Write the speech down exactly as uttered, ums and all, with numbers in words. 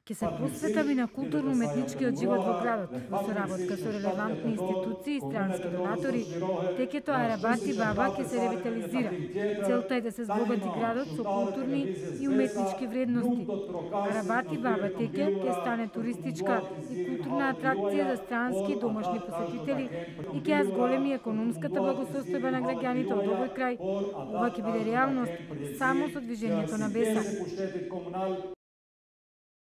Ке се посветам и на културно-уметничкиот живот во градот, во соработка со релевантни институции и странски донатори. Текето Арабати Баба ќе се ревитализира. Целта е да се збогати градот со културни и уметнички вредности. Арабати Баба теке ќе стане туристичка и културна атракција за странски и домашни посетители и ќе ја зголеми економската благосостојба на граѓаните од овој крај. Ова ќе биде реалност само со движењето на Беса.